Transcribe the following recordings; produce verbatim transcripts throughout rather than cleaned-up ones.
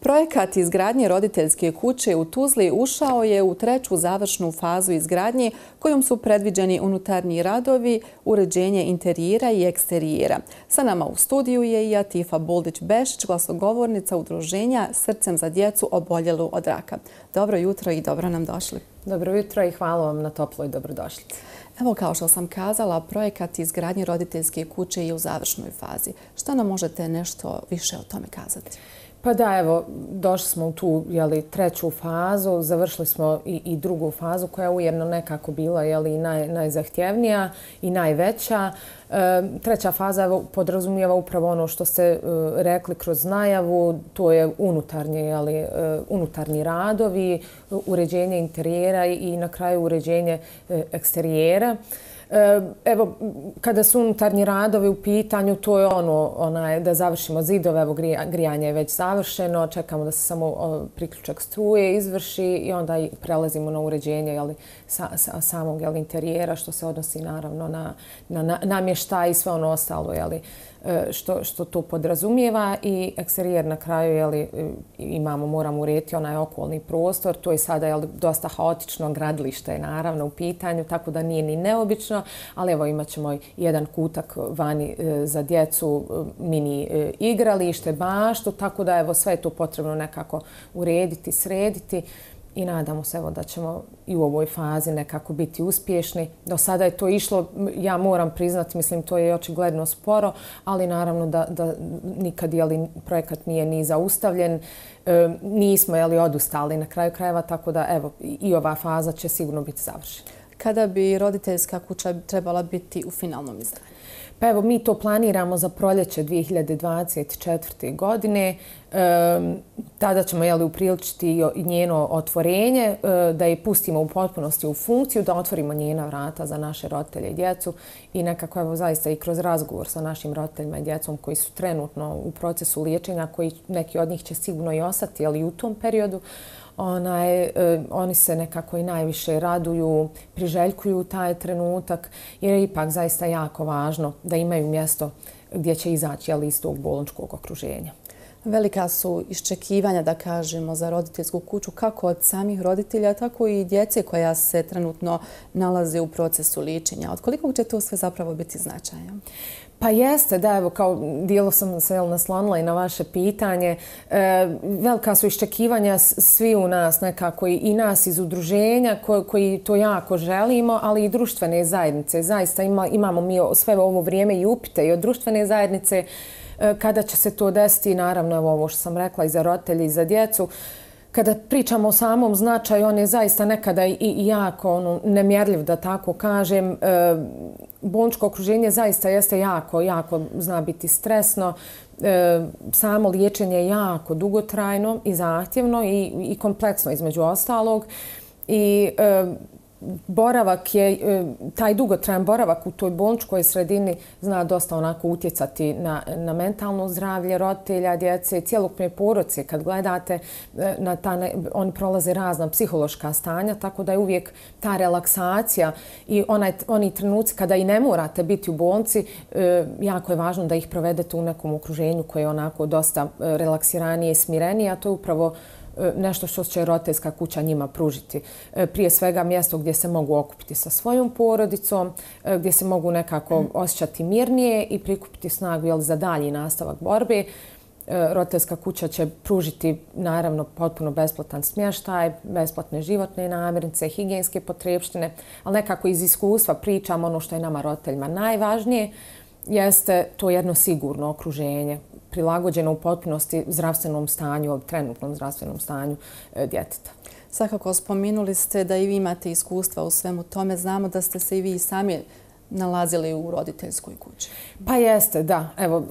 Projekat izgradnje roditeljske kuće u Tuzli ušao je u treću završnu fazu izgradnje kojom su predviđeni unutarnji radovi, uređenje interijera i eksterijera. Sa nama u studiju je i Atifa Buldić-Bešić, glasogovornica udruženja Srcem za djecu oboljelu od raka. Dobro jutro i dobro nam došli. Dobro jutro i hvala vam na toploj dobrodošlici. Evo, kao što sam kazala, projekat izgradnje roditeljske kuće je u završnoj fazi. Šta nam možete nešto više o tome kazati? Pa da, evo, došli smo u tu jeli, treću fazu, završili smo i, i drugu fazu koja je ujedno nekako bila jeli, naj, najzahtjevnija i najveća. E, treća faza evo, podrazumijeva upravo ono što ste e, rekli kroz najavu, to je unutarnje, jeli, e, unutarnji radovi, uređenje interijera i, i na kraju uređenje e, eksterijera. Evo, kada su unutarnji radovi u pitanju, to je ono, onaj, da završimo zidove, evo grijanje je već završeno, čekamo da se samo priključak struje izvrši i onda i prelazimo na uređenje jeli, sa, sa, samog jeli, interijera, što se odnosi naravno na, na, na namještaj i sve ono ostalo jeli, što, što to podrazumijeva. I eksterijer na kraju jeli, imamo, moramo urediti onaj okolni prostor, to je sada jeli, dosta haotično, gradilište je naravno u pitanju, tako da nije ni neobično, ali evo imat ćemo jedan kutak vani za djecu, mini igralište, baštu, tako da evo sve je to potrebno nekako urediti, srediti i nadamo se evo da ćemo i u ovoj fazi nekako biti uspješni. Do sada je to išlo, ja moram priznati, mislim to je očigledno sporo, ali naravno da, da nikad jeli, projekat nije ni zaustavljen, e, nismo jeli, odustali na kraju krajeva, tako da evo i ova faza će sigurno biti završena. Kada bi roditeljska kuća trebala biti u finalnom izdanju? Pa evo, mi to planiramo za proljeće dvije hiljade dvadeset četvrte. godine. E, tada ćemo jeli, upriličiti i njeno otvorenje, e, da je pustimo u potpunosti u funkciju, da otvorimo njena vrata za naše roditelje i djecu i nekako evo, zaista i kroz razgovor sa našim roditeljima i djecom koji su trenutno u procesu liječenja, koji neki od njih će sigurno i ostati jeli, u tom periodu. Onaj, eh, oni se nekako i najviše raduju, priželjkuju taj trenutak jer je ipak zaista jako važno da imaju mjesto gdje će izaći jeli, iz tog bolničkog okruženja. Velika su iščekivanja, da kažemo, za roditeljsku kuću kako od samih roditelja, tako i djece koja se trenutno nalaze u procesu liječenja. Od kolikog će to sve zapravo biti značajno? Pa jeste, da, evo, kao dijelo sam se naslonila i na vaše pitanje. E, velika su iščekivanja svi u nas nekako i nas iz udruženja koji, koji to jako želimo, ali i društvene zajednice. Zaista ima, imamo mi sve ovo vrijeme i upite i od društvene zajednice e, kada će se to desiti, naravno evo, ovo što sam rekla i za roditelje i za djecu. Kada pričamo o samom značaju, on je zaista nekada i, i jako ono, nemjerljiv, da tako kažem. E, bolničko okruženje zaista jeste jako, jako zna biti stresno. E, samo liječenje je jako dugotrajno i zahtjevno i, i kompleksno između ostalog. I e, boravak je, taj dugotrajan boravak u toj bolničkoj sredini zna dosta onako utjecati na, na mentalno zdravlje roditelja, djece, cjelokupne porodice. Kad gledate, na ta, oni prolaze razna psihološka stanja, tako da je uvijek ta relaksacija i onaj, oni trenuci kada i ne morate biti u bolnici, jako je važno da ih provedete u nekom okruženju koje je onako dosta relaksiranije i smirenije, a to je upravo nešto što će roditeljska kuća njima pružiti. Prije svega mjesto gdje se mogu okupiti sa svojom porodicom, gdje se mogu nekako osjećati mirnije i prikupiti snagu jel, za dalji nastavak borbe. Roditeljska kuća će pružiti naravno potpuno besplatan smještaj, besplatne životne namirnice, higijenske potrepštine, ali nekako iz iskustva pričam ono što je nama roditeljima najvažnije, jeste to jedno sigurno okruženje, prilagođeno u potpunosti zdravstvenom stanju, trenutnom zdravstvenom stanju djeteta. Svakako spominuli ste da i vi imate iskustva u svemu tome. Znamo da ste se i vi sami nalazili u roditeljskoj kući. Pa jeste, da. Evo,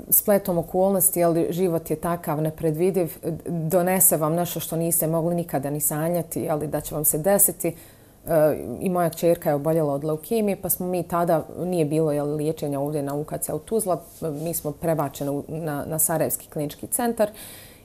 spletom okolnosti, jer život je takav nepredvidiv, donese vam nešto što niste mogli nikada ni sanjati, ali da će vam se desiti. I moja kćerka je oboljela od leukemije, pa smo mi tada, nije bilo jel, liječenja ovdje na U K C u Tuzla, mi smo prebačeni na, na Sarajevski klinički centar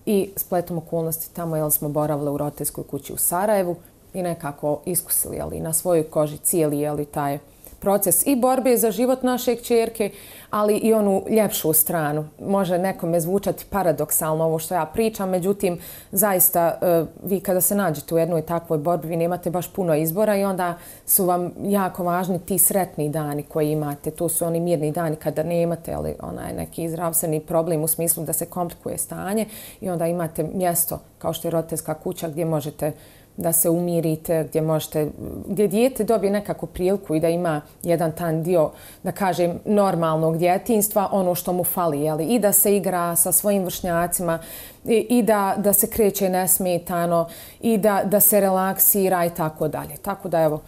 i spletom okolnosti tamo jel, smo boravili u roditeljskoj kući u Sarajevu i nekako iskusili jel, na svojoj koži cijeli jel, taj proces i borbe za život naše kćerke, ali i onu ljepšu stranu. Može nekome zvučati paradoksalno ovo što ja pričam, međutim, zaista vi kada se nađete u jednoj takvoj borbi, vi nemate baš puno izbora i onda su vam jako važni ti sretni dani koji imate. To su oni mirni dani kada nemate ali onaj neki zdravstveni problem u smislu da se komplikuje stanje i onda imate mjesto kao što je roditeljska kuća gdje možete da se umirite, gdje možete, gdje dijete dobije nekakvu priliku i da ima jedan tan dio, da kažem, normalnog djetinjstva, ono što mu fali, jeli? I da se igra sa svojim vršnjacima i, i da, da se kreće nesmetano i da, da se relaksira i tako dalje. Tako da, evo,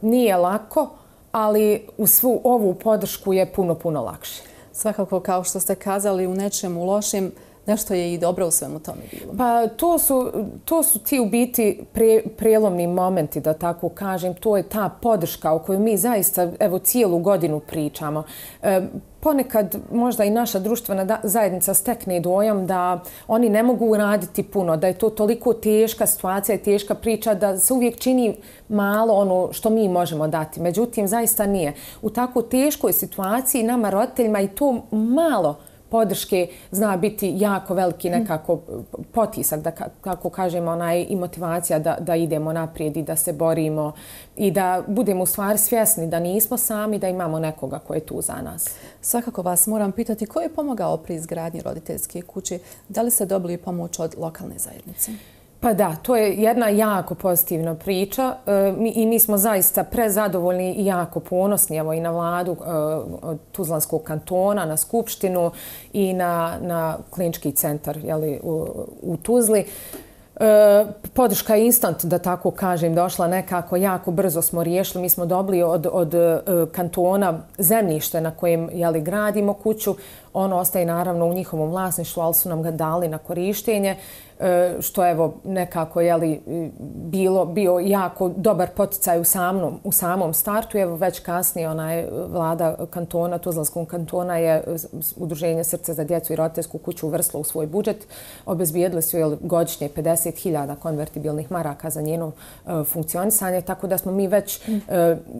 nije lako, ali u svu ovu podršku je puno, puno lakše. Svakako, kao što ste kazali, u nečemu lošim, nešto je i dobro u svemu tome bilo. Pa to su, to su ti u biti pre, prelomni momenti, da tako kažem. To je ta podrška o kojoj mi zaista evo cijelu godinu pričamo. E, ponekad možda i naša društvena zajednica stekne dojam da oni ne mogu raditi puno, da je to toliko teška situacija i teška priča da se uvijek čini malo ono što mi možemo dati. Međutim, zaista nije. U tako teškoj situaciji nama roditeljima i to malo podrške zna biti jako veliki nekako potisak, da kako kažemo, onaj, i motivacija da, da idemo naprijed i da se borimo i da budemo u stvari svjesni da nismo sami, da imamo nekoga ko je tu za nas. Svakako vas moram pitati ko je pomogao pri izgradnji roditeljske kuće? Da li ste dobili pomoć od lokalne zajednice? Pa da, to je jedna jako pozitivna priča e, mi, i mi smo zaista prezadovoljni i jako ponosni evo, i na vladu e, od Tuzlanskog kantona, na skupštinu i na, na klinički centar jeli, u, u Tuzli. E, podrška je instant, da tako kažem, došla nekako, jako brzo smo riješili. Mi smo dobili od, od e, kantona zemljište na kojem jeli, gradimo kuću. Ono ostaje naravno u njihovom vlasništvu, ali su nam ga dali na korištenje, što evo nekako jeli, bilo, bio jako dobar poticaj u samom, u samom startu. Evo već kasnije onaj vlada kantona, Tuzlanskog kantona je Udruženje Srce za djecu i roditeljsku kuću uvrstilo u svoj budžet. Obezbijedili su jeli, godišnje pedeset hiljada konvertibilnih maraka za njeno uh, funkcionisanje, tako da smo mi već uh,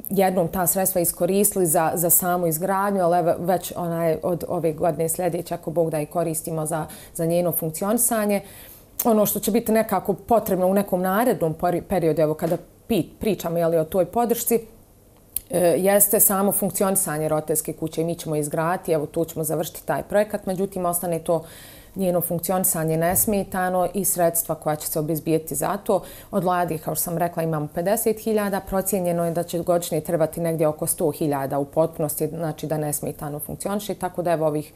jednom ta sredstva iskoristili za, za samu izgradnju, ali evo, već onaj, od ove godine sljedeće, ako Bog da i koristimo za, za njeno funkcionisanje. Ono što će biti nekako potrebno u nekom narednom periodu, evo kada pričamo jeli, o toj podršci, jeste samo funkcionisanje roditeljske kuće i mi ćemo izgraditi, evo tu ćemo završiti taj projekat, međutim ostane to njeno funkcionisanje nesmetano i sredstva koja će se obezbijeti za to. Od vlade, kao što sam rekla, imamo pedeset hiljada, procijenjeno je da će godišnje trebati negdje oko sto hiljada u potpunosti, znači da nesmetano funkcioniše, tako da evo ovih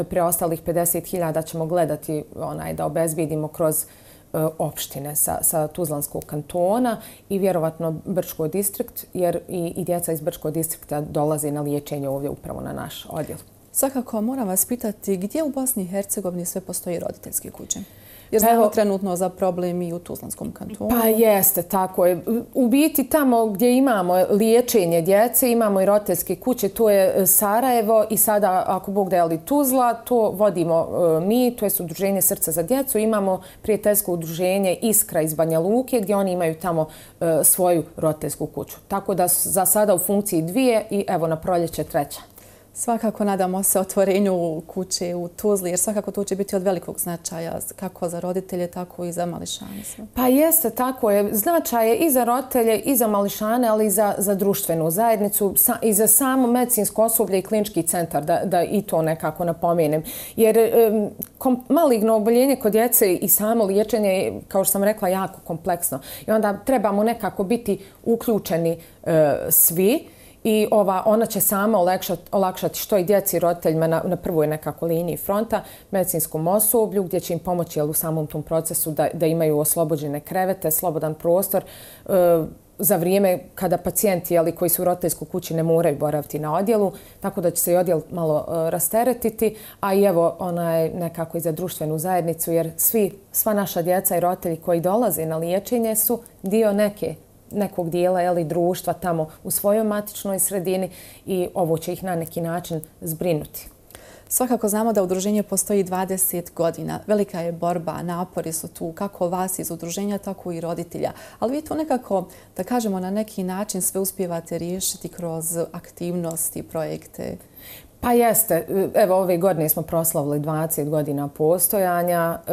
preostalih pedeset hiljada ćemo gledati onaj, da obezbijedimo kroz opštine sa, sa Tuzlanskog kantona i vjerovatno Brčko distrikt, jer i, i djeca iz Brčkog distrikta dolaze na liječenje ovdje upravo na naš odjel. Svakako moram vas pitati gdje u Bosni i Hercegovini sve postoji roditeljske kuće? Jer znamo Evo, trenutno za problem i u Tuzlanskom kantonu. Pa jeste, tako je. U biti tamo gdje imamo liječenje djece, imamo i roditeljske kuće, to je Sarajevo i sada, ako Bog da je li Tuzla, to vodimo mi, to je Udruženje Srca za djecu. Imamo prijateljsko udruženje Iskra iz Banja Luke gdje oni imaju tamo svoju roditeljsku kuću. Tako da su za sada u funkciji dvije i evo na proljeće treća. Svakako nadamo se otvorenju kuće u Tuzli, jer svakako to će biti od velikog značaja kako za roditelje, tako i za mališane. Pa jeste, tako je. Značaj je i za roditelje, i za mališane, ali i za, za društvenu zajednicu, sa, i za samo medicinsko osoblje i klinički centar, da, da i to nekako napomenem. Jer um, kom, maligno oboljenje kod djece i samo liječenje je, kao što sam rekla, jako kompleksno. I onda trebamo nekako biti uključeni uh, svi. I ova, ona će sama olakšati, olakšati što i djeci i roditeljima na, na prvoj nekako liniji fronta, medicinskom osoblju, gdje će im pomoći jel, u samom tom procesu da, da imaju oslobođene krevete, slobodan prostor, e, za vrijeme kada pacijenti jeli, koji su u roditeljskoj kući ne moraju boraviti na odjelu, tako da će se i odjel malo e, rasteretiti, a i evo onaj, nekako i za društvenu zajednicu, jer svi, sva naša djeca i roditelji koji dolaze na liječenje su dio neke nekog dijela jeli, društva tamo u svojoj matičnoj sredini i ovo će ih na neki način zbrinuti. Svakako znamo da udruženje postoji dvadeset godina. Velika je borba, napori su tu kako vas iz udruženja, tako i roditelja. Ali vi to nekako, da kažemo, na neki način sve uspijevate riješiti kroz aktivnosti, projekte. Pa jeste. Evo, ove godine smo proslavili dvadeset godina postojanja. E,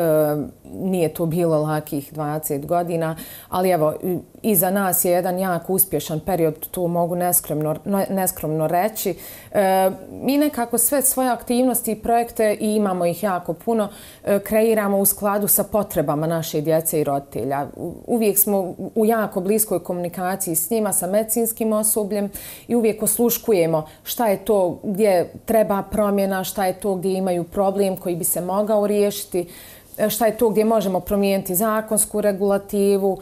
nije to bilo lakih dvadeset godina, ali evo, iza nas je jedan jako uspješan period, to mogu neskromno, neskromno reći. E, mi nekako sve svoje aktivnosti i projekte, i imamo ih jako puno, e, kreiramo u skladu sa potrebama naše djece i roditelja. Uvijek smo u jako bliskoj komunikaciji s njima, sa medicinskim osobljem, i uvijek osluškujemo šta je to gdje treba promjena, šta je to gdje imaju problem koji bi se mogao riješiti, šta je to gdje možemo promijeniti zakonsku regulativu,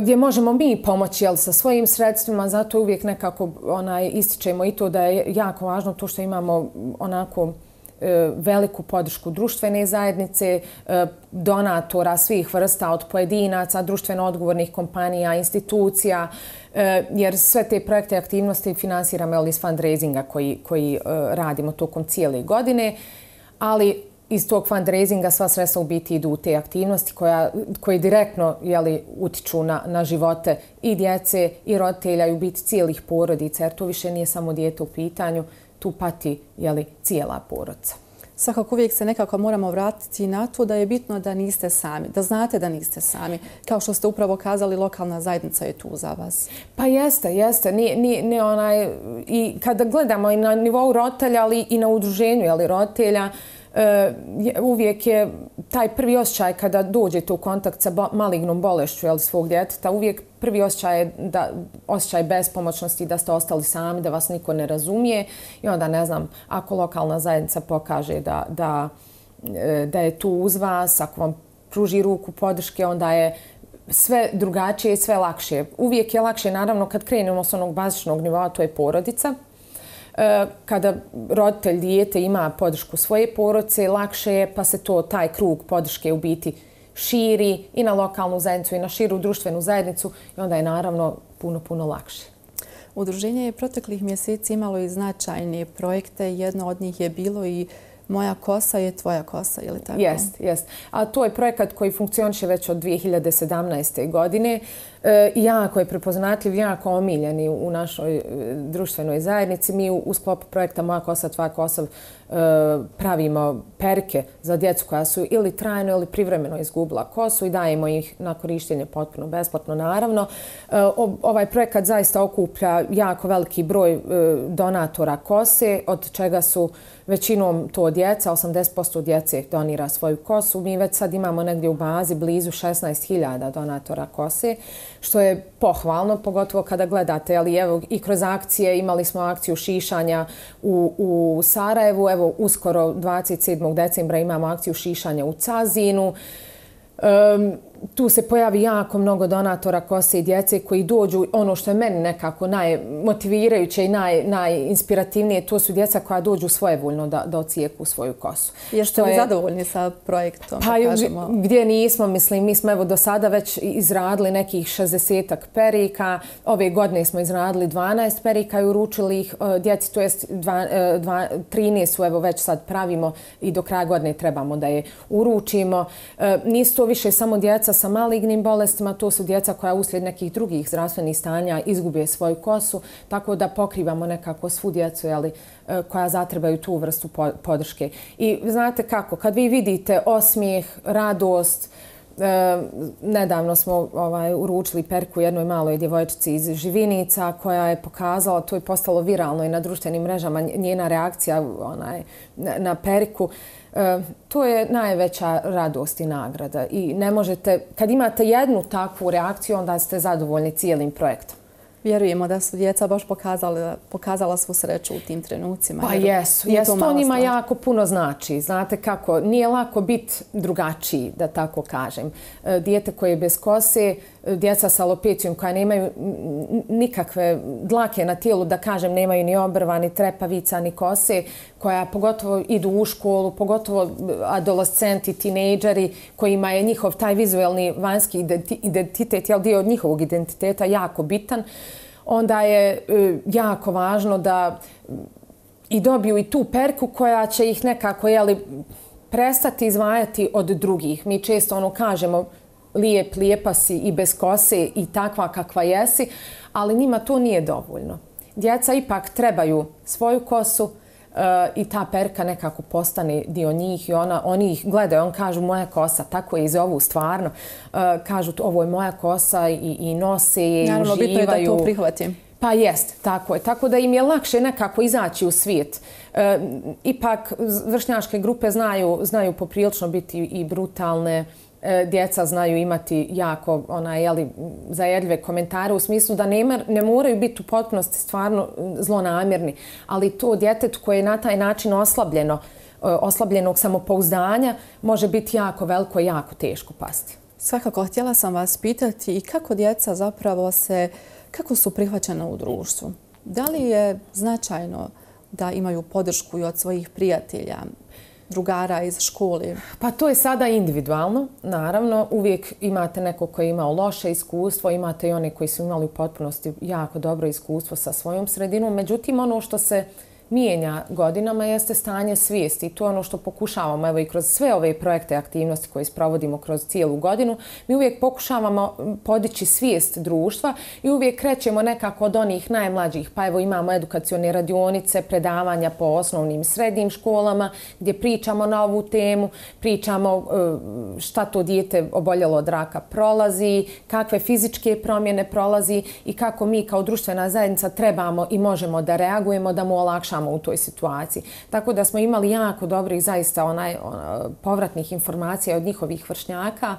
gdje možemo mi pomoći, jel, sa svojim sredstvima. Zato uvijek nekako onaj, ističemo i to da je jako važno to što imamo onako veliku podršku društvene zajednice, donatora svih vrsta, od pojedinaca, društveno odgovornih kompanija, institucija, jer sve te projekte i aktivnosti finansiramo iz fundraisinga koji, koji radimo tokom cijele godine, ali iz tog fundraisinga sva sredstva u biti idu u te aktivnosti koja, koje direktno, jeli, utiču na, na živote i djece i roditelja i u biti cijelih porodica, jer to više nije samo dijete u pitanju, tu pati, jeli, cijela porodica. Svakako uvijek se nekako moramo vratiti na to da je bitno da niste sami, da znate da niste sami. Kao što ste upravo kazali, lokalna zajednica je tu za vas. Pa jeste, jeste. Nije, nije, nije onaj, i kada gledamo i na nivou roditelja, ali i na udruženju, ali roditelja, uvijek je taj prvi osjećaj kada dođete u kontakt sa malignom bolešću, jel, svog djeteta, uvijek prvi osjećaj je da, osjećaj bespomoćnosti, da ste ostali sami, da vas niko ne razumije. I onda, ne znam, ako lokalna zajednica pokaže da, da, da je tu uz vas, ako vam pruži ruku podrške, onda je sve drugačije i sve lakše. Uvijek je lakše, naravno, kad krenemo s onog bazičnog nivoa, to je porodica. Kada roditelj dijete ima podršku svoje porodice, lakše je, pa se to, taj krug podrške u biti širi i na lokalnu zajednicu i na širu društvenu zajednicu, i onda je naravno puno, puno lakše. Udruženje je proteklih mjeseci imalo i značajne projekte. Jedno od njih je bilo i Moja kosa je tvoja kosa, je li tako? Jest, jest. A to je projekat koji funkcioniše već od dvije hiljade sedamnaeste. godine. E, jako je prepoznatljiv, jako omiljeni u našoj društvenoj zajednici. Mi u, u sklopu projekta Moja kosa, tvoja kosa e, pravimo perike za djecu koja su ili trajno ili privremeno izgubila kosu i dajemo ih na korištenje potpuno besplatno, naravno. E, ovaj projekat zaista okuplja jako veliki broj e, donatora kose, od čega su većinom to djeca, osamdeset posto djece donira svoju kosu. Mi već sad imamo negdje u bazi blizu šesnaest hiljada donatora kose, što je pohvalno, pogotovo kada gledate. Ali evo, i kroz akcije, imali smo akciju šišanja u, u Sarajevu, evo uskoro dvadeset sedmog decembra imamo akciju šišanja u Cazinu. Um, tu se pojavi jako mnogo donatora kose i djece koji dođu. Ono što je meni nekako najmotivirajuće i naj, najinspirativnije, to su djeca koja dođu svojevoljno da, da ocijeku svoju kosu. Jeste li zadovoljni sa projektom? Pa kažemo? Gdje nismo, mislim, mi smo evo do sada već izradili nekih šezdesetak perika. Ove godine smo izradili dvanaest perika i uručili ih djeci, to jest trinaest su evo već sad pravimo i do kraja godine trebamo da je uručimo. Nisu to više samo djeca sa malignim bolestima, to su djeca koja uslijed nekih drugih zdravstvenih stanja izgube svoju kosu, tako da pokrivamo nekako svu djecu, jeli, koja zatrebaju tu vrstu podrške. I znate kako, kad vi vidite osmijeh, radost, e, nedavno smo ovaj, uručili perku jednoj maloj djevojčici iz Živinica koja je pokazala, to je postalo viralno i na društvenim mrežama, njena reakcija onaj, na, na periku. E, to je najveća radost i nagrada i ne možete, kad imate jednu takvu reakciju, onda ste zadovoljni cijelim projektom. Vjerujemo da su djeca baš pokazala, pokazala svu sreću u tim trenucima. Pa jesu, jesu. To njima jako puno znači. Znate kako, nije lako biti drugačiji, da tako kažem. Dijete koje je bez kose, djeca sa alopecijom koja nemaju nikakve dlake na tijelu, da kažem, nemaju ni obrva, ni trepavica, ni kose, koja pogotovo idu u školu, pogotovo adolescenti, tinejdžeri, kojima je njihov taj vizualni vanjski identitet, jel, dio od njihovog identiteta jako bitan, onda je jako važno da i dobiju i tu perku koja će ih nekako, jeli, prestati izdvajati od drugih. Mi često ono kažemo lijep, lijepa si i bez kose i takva kakva jesi, ali njima to nije dovoljno. Djeca ipak trebaju svoju kosu uh, i ta perka nekako postane dio njih i ona, oni ih gledaju, on kažu moja kosa, tako je i zovu stvarno. Uh, kažu ovo je moja kosa i, i nose je i uživaju. Naravno, bitno je da to prihvatim. Pa jest, tako je. Tako da im je lakše nekako izaći u svijet. E, ipak vršnjačke grupe znaju, znaju poprilično biti i brutalne. E, djeca znaju imati jako ona, jeli, zajedljive komentare u smislu da ne, ne moraju biti u potpunosti stvarno zlonamjerni. Ali to djetetu koje je na taj način oslabljeno, oslabljenog samopouzdanja može biti jako veliko i jako teško pasti. Svakako, htjela sam vas pitati i kako djeca zapravo se kako su prihvaćena u društvu? Da li je značajno da imaju podršku i od svojih prijatelja, drugara iz škole? Pa to je sada individualno, naravno. Uvijek imate neko koji je imao loše iskustvo, imate i one koji su imali u potpunosti jako dobro iskustvo sa svojom sredinom. Međutim, ono što se mijenja godinama jeste stanje svijesti i to je ono što pokušavamo, evo i kroz sve ove projekte i aktivnosti koje sprovodimo kroz cijelu godinu, mi uvijek pokušavamo podići svijest društva i uvijek krećemo nekako od onih najmlađih, pa evo imamo edukacione radionice, predavanja po osnovnim i srednjim školama gdje pričamo na ovu temu, pričamo šta to dijete oboljelo od raka prolazi, kakve fizičke promjene prolazi i kako mi kao društvena zajednica trebamo i možemo da reagujemo, da mu olakšamo u toj situaciji. Tako da smo imali jako dobrih zaista onaj, ona, povratnih informacija od njihovih vršnjaka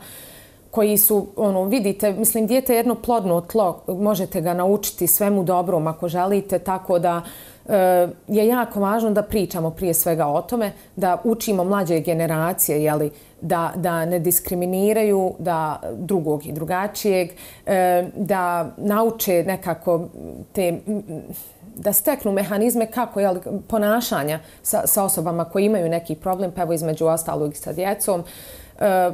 koji su, ono, vidite, mislim, dijete je jedno plodno tlo, možete ga naučiti svemu dobrom ako želite, tako da e, je jako važno da pričamo prije svega o tome, da učimo mlađe generacije, jeli, da, da ne diskriminiraju da drugog i drugačijeg, e, da nauče nekako te da steknu mehanizme kako je ponašanja sa, sa osobama koji imaju neki problem, pa evo između ostalog i sa djecom. E,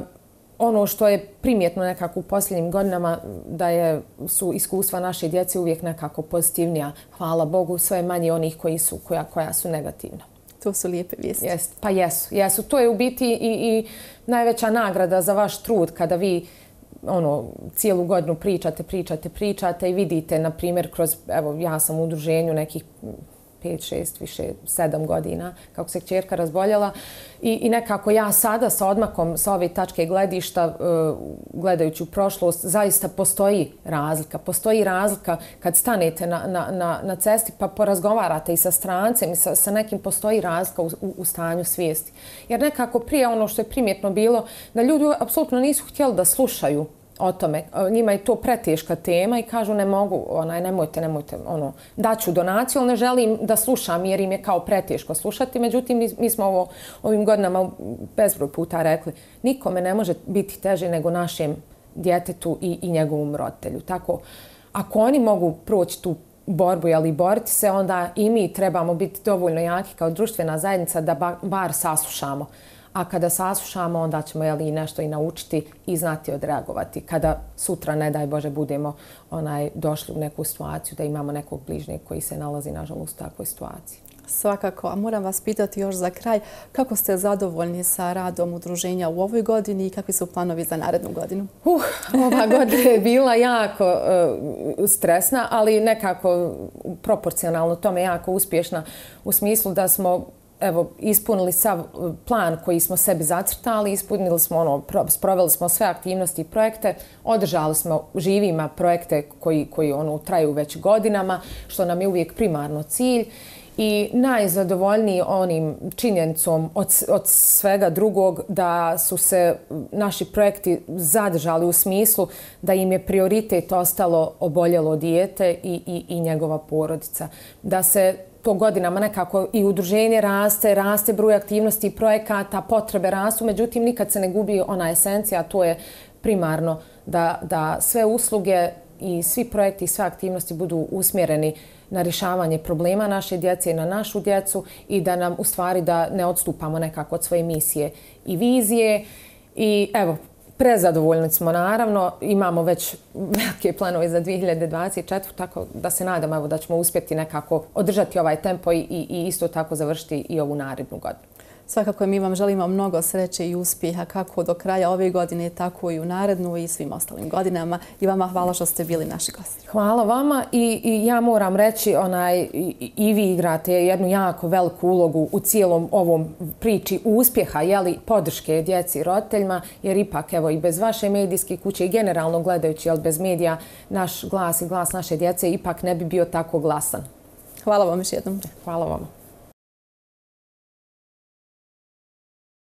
ono što je primjetno nekako u posljednjim godinama da je, su iskustva naše djece uvijek nekako pozitivnija. Hvala Bogu, sve je manje onih koji su, koja, koja su negativna. To su lijepe vijesti. Jest, pa jesu, jesu. To je u biti i, i najveća nagrada za vaš trud kada vi ono, cijelu godinu pričate, pričate, pričate i vidite, na primjer, kroz, evo, ja sam u udruženju nekih pet, šest, više, sedam godina, kako se kćerka razboljela i, i nekako ja sada sa odmakom sa ove tačke gledišta, uh, gledajući u prošlost, zaista postoji razlika. Postoji razlika kad stanete na, na, na, na cesti pa porazgovarate i sa strancem i sa, sa nekim, postoji razlika u, u, u stanju svijesti. Jer nekako prije ono što je primjetno bilo, da ljudi apsolutno nisu htjeli da slušaju o tome. Njima je to preteška tema i kažu ne mogu, onaj, nemojte, nemojte, ono, daću donaciju, ali ne želim da slušam jer im je kao preteško slušati. Međutim, mi, mi smo ovo, ovim godinama bezbroj puta rekli, nikome ne može biti teže nego našem djetetu i, i njegovom roditelju. Tako, ako oni mogu proći tu borbu, ali boriti se, onda i mi trebamo biti dovoljno jaki kao društvena zajednica da ba, bar saslušamo. A kada saslušamo, onda ćemo jeli, nešto i naučiti i znati odreagovati. Kada sutra, ne daj Bože, budemo onaj, došli u neku situaciju da imamo nekog bližnjeg koji se nalazi, nažalost, u takvoj situaciji. Svakako. A moram vas pitati još za kraj, kako ste zadovoljni sa radom udruženja u ovoj godini i kakvi su planovi za narednu godinu? Uh, ova godina je bila jako uh, stresna, ali nekako proporcionalno tome jako uspješna u smislu da smo evo, ispunili sav plan koji smo sebi zacrtali, ispunili smo ono, sproveli smo sve aktivnosti i projekte, održali smo živima projekte koji, koji ono, traju već godinama, što nam je uvijek primarno cilj. I najzadovoljniji onim činjenicom od, od svega drugog da su se naši projekti zadržali u smislu da im je prioritet ostalo oboljelo dijete i, i, i njegova porodica. Da se to godinama nekako i udruženje raste, raste broj aktivnosti i projekata, potrebe rastu, međutim nikad se ne gubi ona esencija, a to je primarno da, da sve usluge i svi projekti i sve aktivnosti budu usmjereni na rješavanje problema naše djece i na našu djecu i da nam u stvari da ne odstupamo nekako od svoje misije i vizije. I evo, Prezadovoljni smo naravno, imamo već velike planove za dvije hiljade dvadeset četvrtu. tako da se nadam evo, da ćemo uspjeti nekako održati ovaj tempo i, i isto tako završiti i ovu narednu godinu. Svakako mi vam želimo mnogo sreće i uspjeha kako do kraja ove godine, tako i u narednu i svim ostalim godinama. I vama hvala što ste bili naši gosti. Hvala vama i, i ja moram reći, onaj, i, i vi igrate jednu jako veliku ulogu u cijelom ovom priči uspjeha, jeli, podrške djeci i roditeljima, jer ipak evo i bez vaše medijske kuće i generalno gledajući, jel, bez medija, naš glas i glas naše djece ipak ne bi bio tako glasan. Hvala vam još jednom. Hvala vama.